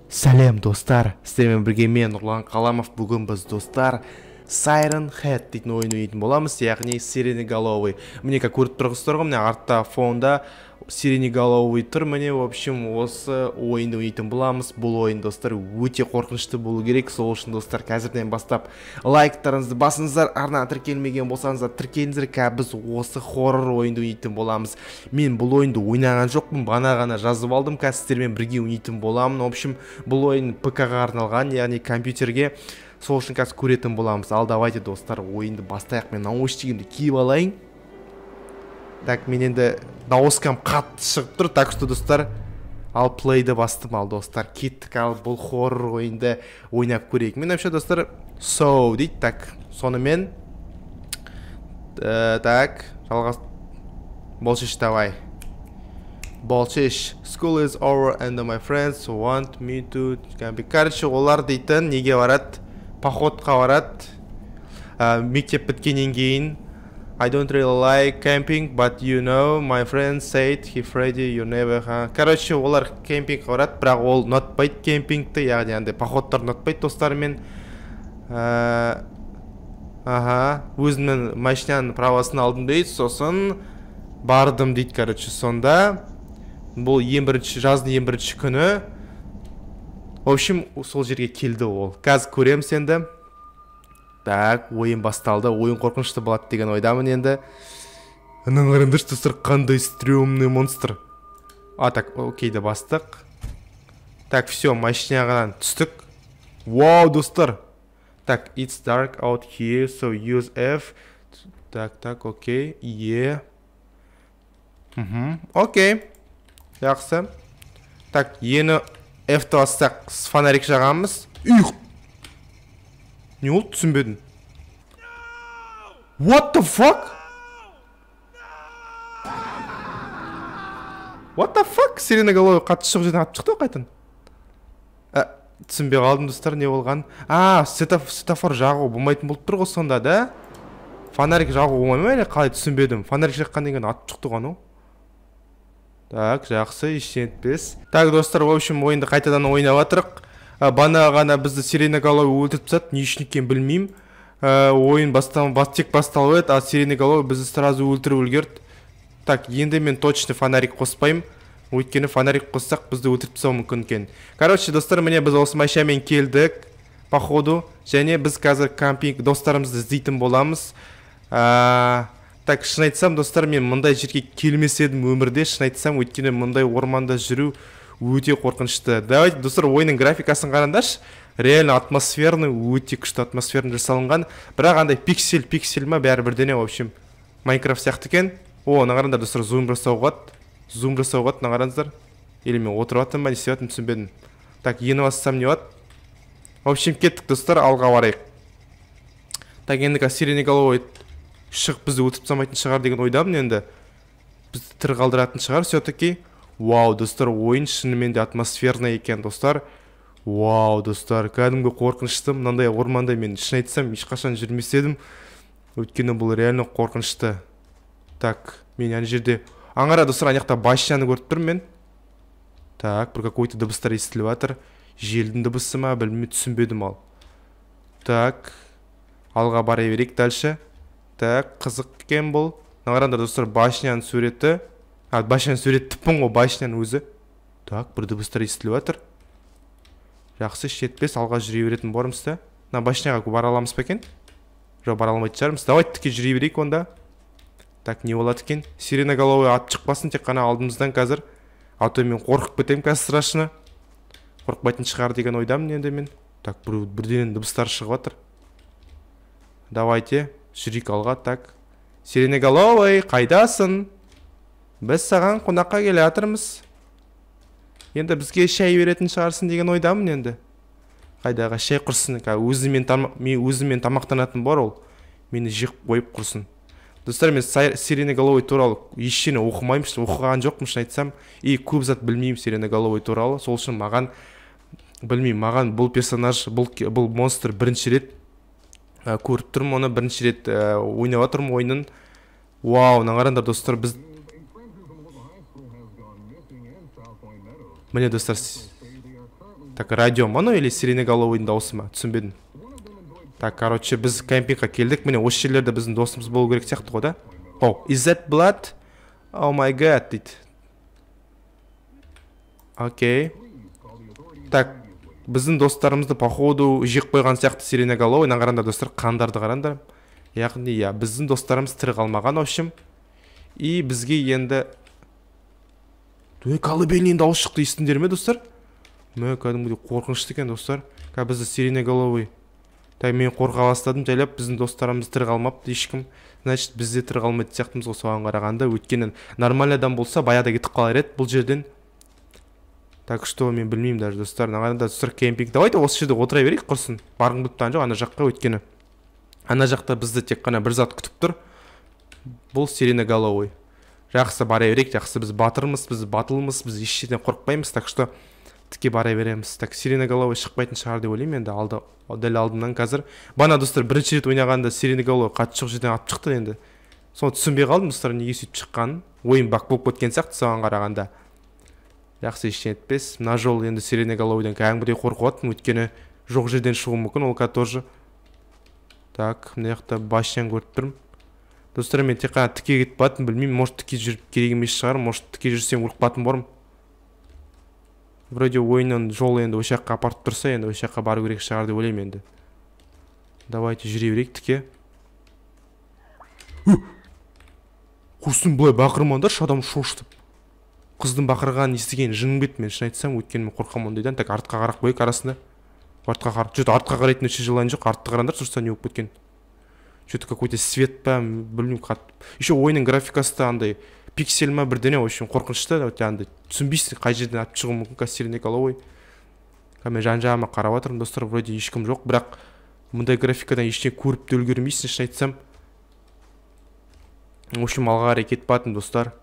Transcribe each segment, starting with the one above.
Сәлем достар, сіздермен бірге мен Нұрлан Қаламов. Бүгін біз достар Siren Head дейтін ойын ойнайтын боламыз, яғни сиреноголовый. Міне көріп тұрғыздар ғой, міне артта фонда сиреноголовый тұр. Міне, в общем, осы ойынды ойнайтын боламыз. Бұл ойын достар өте қорқынышты болу керек. Сол үшін достар қазірден бастап лайктарыңызды басыңыздар. Арна тіркелмеген болсаңыздар тіркеліңіздер. Біз осы хоррор ойынды ойнайтын боламыз. Мен бұл ойынды ойнаған жоқпын, ғана жазып алдым. Сіздермен бірге ойнайтын боламын. В общем, бұл ойын ПК-ға арналған, яғни компьютерге. Сол үшін қазір көретін боламыз. Ал давайте достар ойынды бастайық. Мен наушнигімді киіп алайын. Так, мен енді дауыскам қатты шығып тұр. Так что достар, ал плейді бастым. Ал достар, кеттік. Ал бұл хоррор ойынды ойнап көрейік. Мен вообще достар so дейді. Так, сонымен так, жалғас болшиш давай. Болшиш. School is over and my friends want me to короче, олар дейтін неге барады? Походқа барады. Мектеп біткеннен кейін I don't really like camping, but you know, my friend said he Freddy you never короче, олар кемпингқа барады, бірақ ол ұнатпайды кемпингті, яғни андай походтар ұнатпайды достарымен. Өзімнің машинаның правосын алдым дейді, сосын бардым дейді, короче, сонда бұл жаздың ең бірінші күні. В общем, сол жерге келді ол. Қазір көреміз енді. Так, ойын басталды. Ойын қорқынышты болады деген ойдамын енді. Анан қараңдаршы достар, қандай стрёмный монстр. Так, окейді бастық. Так, все, машинаға түстік. Вау, достар. Так, it's dark out here, so use F. Так, окей. Окей. Жақсы. Так, ені F-ті бастақ, фонарик жағамыз. Не олды, түсінбедім. What the fuck? What the fuck? Сиреноголовый қатты шығып жерден атып шықты қайтын. Түсінбей қалдым достар, не болған? Светофор жағу болмайтын болып тұр ғой сонда, да? Фонарик жағу болмай ма, қалай түсінбедім. Фонарик жаққан деген атып шықты ғану. Так, жақсы, ештен етпес. Так, достар, в общем, ойынды қайтадан ойнап атырық. Бана ғана бізді сиреноголовый өлтіріп тастады, не үшін екенін білмеймін. Ойын тек басталып еді, а сиреноголовый бізді сразу өлтіріп үлгерді. Так, енді мен точно фонарик қоспаймын. Өйткені фонарик қоссақ бізді өлтіріп тастауы мүмкін екен. Короче, достар, міне біз осы машинамен келдік, походу, және біз қазір кампинг достарымызды іздейтін боламыз. Так, шын айтсам, достар, мен мұндай жерге келмес едім өмірде, шын айтсам, өйткені мұндай орманда жүру өте қорқынышты. Давайте, достар, ойынның графикасын қараңдаршы. Реально атмосферный, өте күшті атмосферный жасалынған. Бірақ андай пиксель ма бәрі бірдене, в общем, Майнкрафт сияқты екен. Ана қараңдар, достар, зум жасауға ат, ана қараңыздар. Или мен отырып аттым ба, не істеп аттым, түсінбедім. Так, ені бассам не бат? В общем, кеттік, достар, алға барайық. Так, енді сиреноголовый шығып бізді өтіп тастамайтын шығар деген ойдамын енді. Бізді тірі қалдыратын шығар, все-таки. Вау, достар, ойын шынымен де атмосферный екен, достар. Вау, достар, кәдімгі қорқынышты. Мынандай орманда мен шын айтсам ешқашан жүрмес едім. Өйткені бұл реально қорқынышты. Так, мен ана жерде аңғара, достар, ана жақта машинаны көріп тұрмын мен. Так, бір какой-то дыбыстар естіліп жатыр. Желдің дыбысы ма, білмей түсінбедім ал. Так, алға бара берейік дальше. Так, қызық екен бұл. Аңғараңдар, достар, машинаның суреті. Машинаның суреті тіппін ғой, машинаның өзі. Так, бір дыбыстар естіліп жатыр. Жақсы, шетпес, алға жүре беретін барымызда. Машинаға бара аламыз ба екен? Жоқ, бара алмайтын шығармыз. Давайте тіке жүре берейік онда. Так, не болады екен? Сиреноголовый ат шықпасын, тек қана алдымыздан қазір. А то мен қорқып кетемін қазір страшно. Қорқпайтын шығар деген ойдамын енді мен. Так, бірден дыбыстар шығып жатыр. Давайте, жүрейік алға. Так, сиреноголовый, қайдасың? Біз саған қонаққа келе жатырмыз. Енді бізге шай беретін шығарсын деген ойдамын енді. Қайдағы шай құрсын. Өзімен тамақтанатын бар ол. Мені жек қойып құрсын. Достар, мен сиреноголовый туралы ештеңе оқымаймын, оқыған жоқпын, шын айтсам. Көп зат білмеймін сиреноголовый туралы. Сол үшін маған бұл персонаж, бұл монстр бірінші рет көріп тұрмын, оны бірінші рет ойнап отырмын ойынын. Вау, қараңдар достар, біз Міне достар, Так, радио ма, ну или сиреноголовыйдың дауысы ма, түсінбедім. Так, короче, біз кемпингқа келдік. Міне осы жерлерде біздің досымыз болу керек сияқты ғой да. О, is that blood? Oh my god, дейді. Окей. Так, біздің достарымызды походу жек қойған сияқты сиреноголовый. Қараңдар достар, қандарды қараңдар. Яғни, я, біздің достарымыз тірі қалмаған, в общем. И бізге енді колыбельный дауыс шықты, естіңдер ме, достар? Мә, кәдімгідей қорқынышты екен, достар. Бізді сиреноголовый. Так, мен қорқа бастадым, жайлап, біздің достарымыз тірі қалмапты ешкім. Значит, бізде тірі қалмайды сияқтымыз ғой соған қарағанда. Өйткені нормальный адам болса, баяда кетіп қалар еді бұл жерден. Так что мен білмеймін даже, достар. Нағанда достар кемпинг. Давайте осы жерде отыра берейік құрсын. Барғым келіп тұрған жоқ ана жаққа, өйткені ана жақта бізді тек қана бір зат күтіп тұр. Бұл сиреноголовый. Жақсы бара берейік, жақсы, біз батырмыз, біз батылмыз, біз еш жерден қорықпаймыз. Так что тіке бара береміз. Так, сиреноголовый шықпайтын шығар деп ойлаймын енді. Дәл алдымнан қазір. Бана достар бірінші рет ойнағанда сиреноголовый қатты жоқ жерден алып шықты енді. Соны түсінбей қалдым, достар, неге сөйтіп шыққанын. Ойын бак болып кеткен сияқты соған қарағанда. Жақсы, ештеңе етпес. Мына жол енді сиреноголовыйдан кәдімгідей қорқыватырмын, өйткені жоқ жерден шығуы мүмкін, ол тоже. Так, мына жақта басшан көріп тұрмын. Достар, мен тек қана тіке кетіп баттым, білмеймін, может тіке жүріп керек емес шығар, может тіке жүрсем ұрып баттым барым. Вроде ойынның жолы енді осы жаққа апарып тұрса, енді осы жаққа бару керек шығар деп ойлаймын енді. Давайте жүре берейік тіке. Құсын бұлай бақырмандар, адам шошытып. Қыздың бақырғанын естіген жыным кетті, мен шын айтсам, өйткені мен қорқамын ондайдан. Так, артқа қарақ қойық арасында. Артқа қарайтын өше жылайын жоқ, артты қарандар, тұрса не болып кеткен. Что-то какой-то свет па, білмеймін, еще ойынның графикасы андай пиксель ма бірдене, в общем, қорқынышты, андай түсінбейсің қай жерден алып шығуы мүмкін сиреноголовый. Мен жан-жағыма қарап отырмын, достар, вроде ешкім жоқ, бірақ мұндай графикадан ештеңе көріп те үлгермейсің, шын айтсам. В общем, алға қарай кетіп бардым, достар.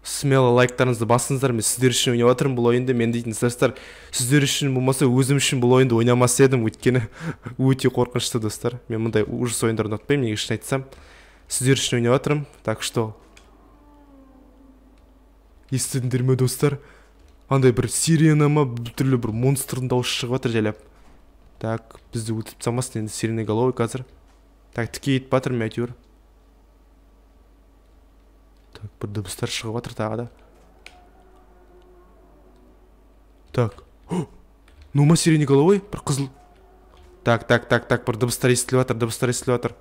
Смело лайктарыңызды басыңыздар, мен сіздер үшін ойнап жатырмын бұл ойынды. Мен дейтін достар, сіздер үшін болмаса өзім үшін бұл ойынды ойнамас едім, өйткені өте қорқынышты, достар. Мен мұндай ужас ойындарды ұнатпаймын, неге шын айтсам. Сіздер үшін ойнап жатырмын. Так что естідіңдер ме, достар? Андай бір сирена ма, түрлі бір монстрдың дауысы шығып жатыр жайлап. Так, бізді өтіп тастамасын енді сиреноголовый қазір. Так, тіке етіп жатырмын әйтеуір. Так, бір дыбыстар шығып жатыр тағы да. Так. Нума сиреноголовый, бір қызыл. Так, бір дыбыстар естіліп жатыр,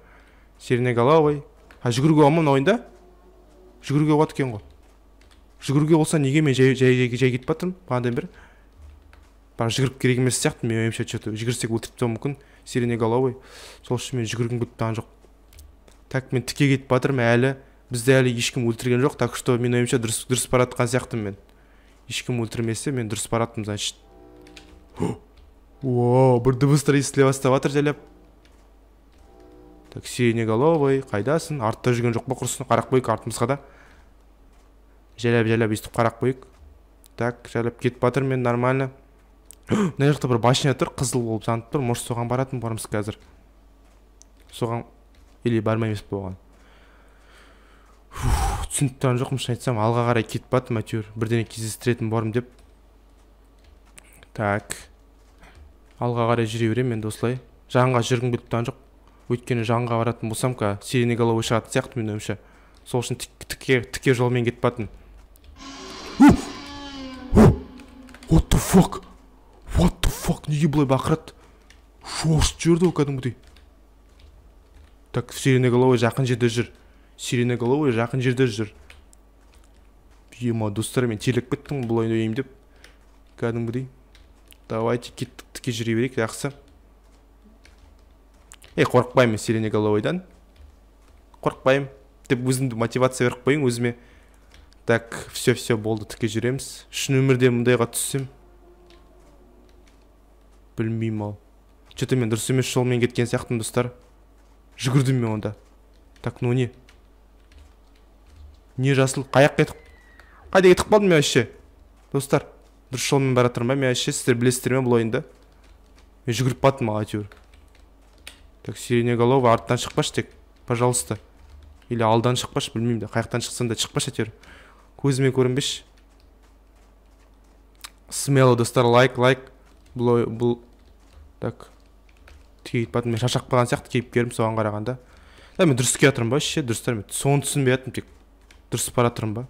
Сиреноголовый. Жүгіруге болма мына ойында? Жүгіруге болады екен ғой. Жүгіруге болса неге мен жай кетіп жатырмын? Қандай бір. Бірақ жүгіріп керек емес сияқты, мен ойымша что-то жүгірсек өлтіріп тастауы мүмкін. Сиреноголовый. Сол үшін мен жүгіргім келіп тұрған жоқ. Так, мен тіке кетіп жатырмын әлі. Бізді әлі ешкім өлтірген жоқ, так что мен ойымша дұрыс баратқан сияқтымын мен. Ешкім өлтірмесе, мен дұрыс бараттым, значит. Вау, бір дыбыстар естіле бастап жатыр жайлап. Так, сиреноголовый, қайдасың? Артта жүрген жоқ па құрсын? Қарақ қойық артымызға да. Жайлап естіп қарақ қойық. Так, жайлап кетіп батыр мен нормально. Мына жақта бір башня тұр, қызыл болып жанып тұр. Может соған баратын барымыз қазір. Соған или бармаймыз болған. Түсініп тұрған жоқпын, шын айтсам, алға қарай кетіп баттым әйтеуір. Бірдеңе кездестіретін барым деп. Так. Алға қарай жүре беремін енді осылай. Жанға жүргім келіп тұрған жоқ. Өйткені жанға баратын болсам, сиреноголовый шығатын сияқты мен ойымша. Сол үшін тіке жолмен кетіп баттым. What the fuck? What the fuck? Неге бұлай бақырады? Шошып жүрді ол кәдімгідей. Так, сиреноголовый жақын жерде жүр. Сиреноголовый жақын жерде жүр. Ема, достар, мен телек кеттім бұл ойынды ойнайын деп. Кәдімгідей. Давайте кеттік, тіке жүре берейік, жақсы. Қорықпаймын сиреноголовыйдан. Қорықпаймын. Деп өзімді мотивация беріп қойын өзіме. Так, все болды, тіке жүреміз. Шын өмірде мұндайға түссем. Білмеймін ал. Что-то мен дұрыс емес жолмен кеткен сияқтым, достар. Жүгірдім мен онда. Так, ну не? Не жасыл? Қайда кетіп қалдым мен әше? Достар, дұрыс жолмен баратырмын ба мен әше? Сіздер білесіздер ме бұл ойында? Мен жүгіріп баттым ал әйтеуір. Так, сиреноголовый арттан шықпаш тек, пожалуйста. Или алдан шықпаш, білмеймін де. Қаяқтан шықсан да шықпаш әйтеуір. Көзіме көрінбеш. Смело, достар, лайк. бұл так кейіп батым, мен шашақ қалған сияқты кейіпкерім соған қарағанда. Мен дұрыс келе жатырмын ба ше, дұрыстар мен соны түсінбей жатырмын, тек дұрыс бара жатырмын ба,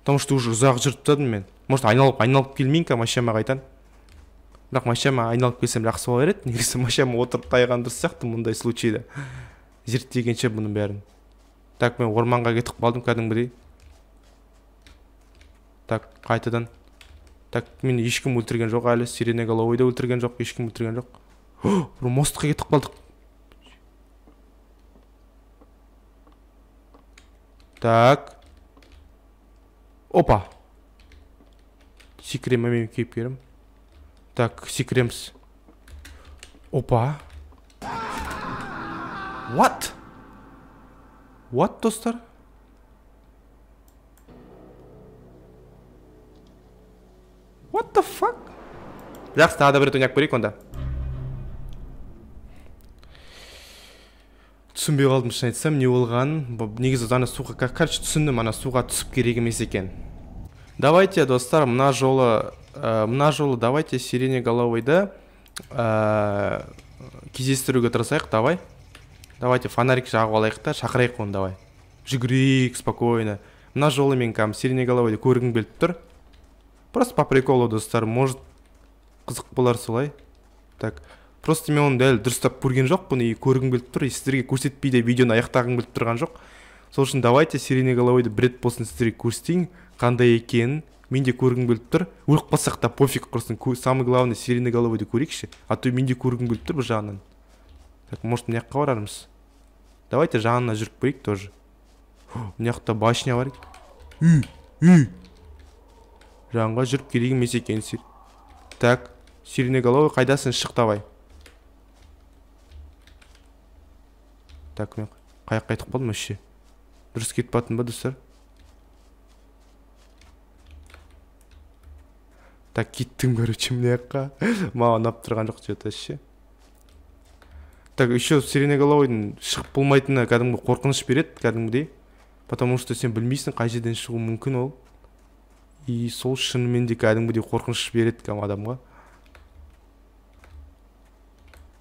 потому что уже ұзақ жүріп тастадым мен. Может айналып келмейін ка машинама қайтан, бірақ машинама айналып келсем жақсы болар еді. Негізі машинама отырып тайған дұрыс сияқты мұндай случайда зерттегенше бұның бәрін. Так, мен орманға кетіп қалдым кәдімгідей. Так, қайтадан. Так, мен ешкім өлтірген жоқ әлі, сиреноголовойды өлтірген жоқ, ешкім өлтірген жоқ. Бір мостқа кетіп қалдық. Так. Опа. Секрем мен кейіпкерім. Так, секремс. Опа. What? What, достар? What the fuck? Жақсы, тағы да бір рет ойнап көрейік онда. Түсінбей қалдым, шын айтсам, не болғанын. Негізі ана суға, короче, түсіндім, ана суға түсіп керек емес екен. Давайте, достар, мына жолы давайте сиреноголовойды кездестіруге тырысайық, давай. Давайте фонарик жағып алайық та, шақырайық оны, давай. Жүгірейік спокойно. Мына жолы мен сиреноголовойды көргім келіп тұр. Просто по приколу, достар, может қызық болар солай. Так, просто мен оны дәл дұрыстап көрген жоқпын, и көргім келіп тұр, и сіздерге көрсетпейді видеоны аяқтағым келіп тұрған жоқ. Сол үшін давайте сиреноголовойды бір рет болсын сіздерге көрсетейін, қандай екенін. Мен де көргім келіп тұр. Өліп қалсақ та пофиг, құрсын. Самый главный сиреноголовойды көрейікші. А то мен де көргім келіп тұр бір жағынан. Так, может, мына жаққа барармыз. Давайте жағына жүріп көрейік тоже. Мына жақта башня бар. Жағынға жүріп керек емес екен. Так, сиреноголовой қайдасың, шық давай. Так, мен қайтып қалдым өші. Дұрыс кетіп батын ба, достар? Так, кеттім, короче, мына жаққа. Маған ұнап тұрған жоқ жета ше. Так, еще сиреноголовойдың шығып болмайтыны кәдімгі қорқыныш береді, кәдімгідей. Потому что сен білмейсің қай жерден шығу мүмкін ол. И сол шынымен де кәдімгідей қорқыныш береді кәдімгі адамға.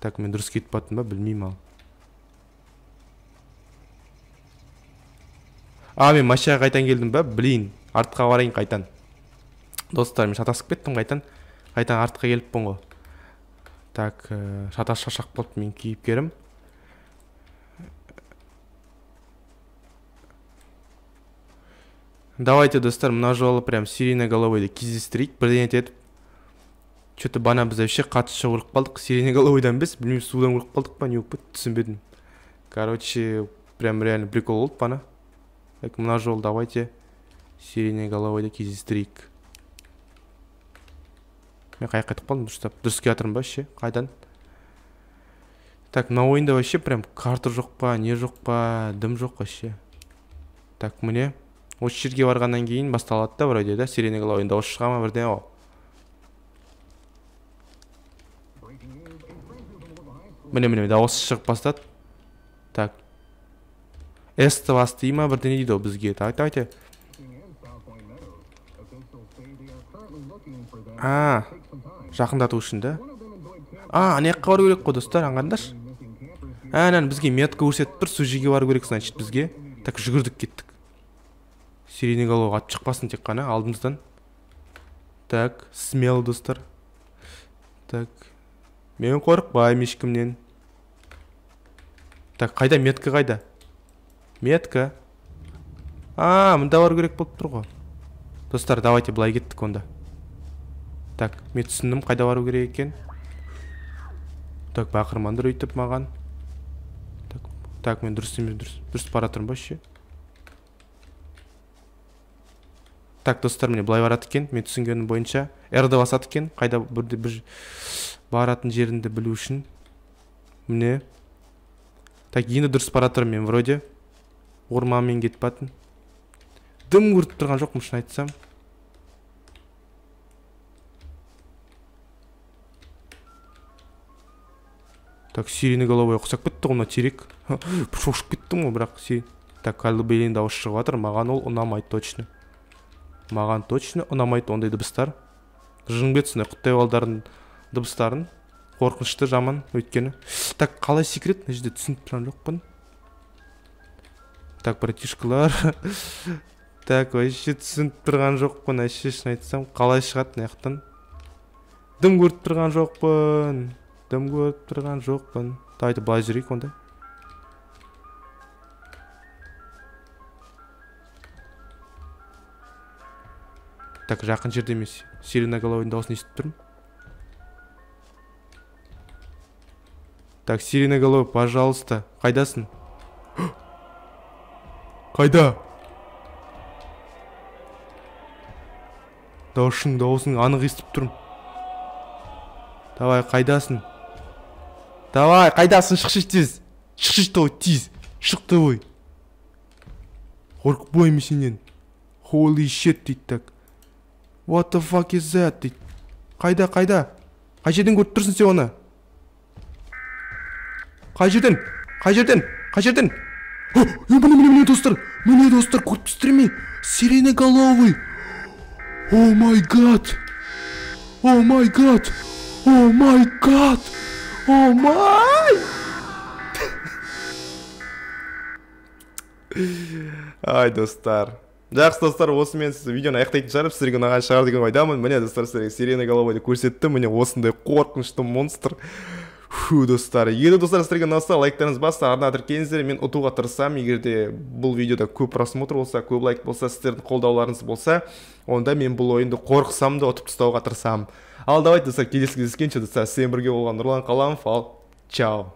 Так, мен дұрыс кетіп баттым ба, білмеймін ал. Мен машинаға қайтан келдім ба, білейін. Артқа барайын қайтан. Достар, мен шатасып кеттім қайтан. Қайтан артқа келіп бұн ғой. Так, шатас-шашақ болды мен кейіпкерім. Давайте, достар, мына жолы прям сиреноголовойды кездестірейік, бірден етіп. Что-то бана біз вообще қатышы өліп қалдық. Сиреноголовойдан біз, білмейм, судан өліп қалдық па, не өп бітті, түсінбедім. Короче, прям реально прикол болды бана. Так, мына жолы давайте сиреноголовойды кездестірейік. Мен қайтып қалдым, дұрыс келе жатырмын ба, ше, қайдан? Так, мына ойында вообще прям карта жоқ па, не жоқ па, дым жоқ вообще. Так, міне осы жерге барғаннан кейін басталады да вроде, да, сиреноголовойдың дауысы шыға ма бірден о. Міне дауысы шығып бастады. Так. С-ті басты ма бірден дейді о бізге. Так, давайте. Жақындату үшін да. Ана жаққа бару керек қой, достар, аңғарыңдаршы. Бізге метка көрсетіп тұр, сол жерге бару керек, значит, бізге. Так, жүгірдік кеттік. Сиреноголовой атып шықпасын тек қана алдымыздан. Так, смело, достар. Так. Мен қорықпаймын ешкімнен. Так, қайда метка, қайда? Метка. Мында бару керек болып тұр ғой. Достар, давайте былай кеттік онда. Так, мен түсіндім қайда бару керек екен. Так, бақырмандар өйтіп маған. Так, мен дұрыс бара тұрмын ба ше. Так, достар, міне былай барады екен, мен түсінгенім бойынша. R-ді басады екен, қайда бір баратын жерінді білу үшін. Міне. Так, енді дұрыс бара тұрмын мен, вроде. Орманмен кетіп батын. Дым көріп тұрған жоқпын, шын айтсам. Так, сиреноголовой ұқсап кетті ғына терек. Шошып кеттім ғой, бірақ Так, кәлі дауыс шығып жатыр, маған ол ұнамайды точно. Маған точно ұнамайды ондай дыбыстар. Жын бет сондай құттай балдарын дыбыстарын. Қорқынышты жаман өйткені. Так, қалай секрет? Мына жерде түсініп тұрған жоқпын. Так, братишкалар. Так, вообще түсініп тұрған жоқпын. Вообще шын айтсам, қалай шығады мына жақтан? Дым көріп тұрған жоқпын. Дым көріп тұрған жоқпын. Давайте былай жүрейік онда. Так, жақын жерде емес. Сиреноголовойдың дауысын естіп тұрмын. Так, сиреноголовый, пожалуйста. Қайдасың? Қайда? Дауысың анық естіп тұрмын. Давай, қайдасың? Давай, қайдасың? Шықшы тез. Шықшы давай, тез. Шық давай. Қорқып бойым сенен. Holy shit дейді так. What the fuck is that дейді. Қайда? Қай жерден көріп тұрсың сен оны? Қай жерден? Міне достар, көріпсіздер ме? Сиреноголовый. Oh my god. Ай, достар. Жақсы достар, осымен сіз видеоны аяқтайтын шығарып, сіздерге ұнаған шығар деген ойдамын. Міне достар, сіздерге сиреноголовойды көрсеттім. Міне осындай қорқынышты монстр. Достар, егер достар сіздерге ұнаса, лайктарыңыз басса, арна тіркеліңіздер, мен ұтуға тырысамын. Егерде бұл видеода көп просмотр болса, көп лайк болса, сіздердің қолдауларыңыз болса, онда мен бұл ойынды қорқысам да ұтып тастауға тырысамын. Ал давайте достар, келесі кездескенше достар, сен бірге болған Нұрлан Қаламов, ал чао.